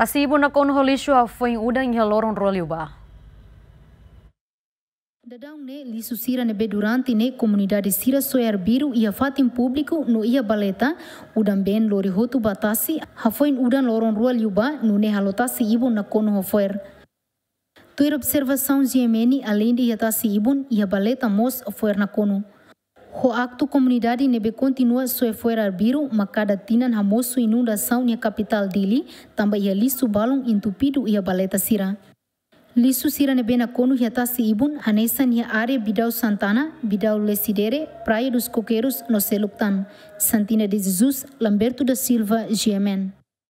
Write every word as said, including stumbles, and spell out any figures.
Tasi ibun nakonu ho lixu hafoin udan iha loron rua liubá. Daudaun ne'e lixu sira ne'ebé durante ne'e komunidade sira soe arbiru iha fatin públiku no iha baleta, udan-been lori hotu ba tasi, hafoin udan loron rua liubá, nune'e halo tasi ibun nakonu ho fo'er. Tuir observasaun G M N, aleinde iha tasi ibun, iha baleta mós fo'er nakonu. Ho aktu komunidade ne'ebé kontinua soe fo'er arbiru, mak kada tinan hamosu inundasaun iha kapitál Dili, tanba iha lixu balun entupidu iha baleta sira. Lixu sira ne'ebé nakonu iha tasi ibun, hanesan iha área Bidau Santana, Bidau Lecidere, Praia dos Coqueiros, no seluk tan. Santina de Jesus, Lamberto da Silva, G M N.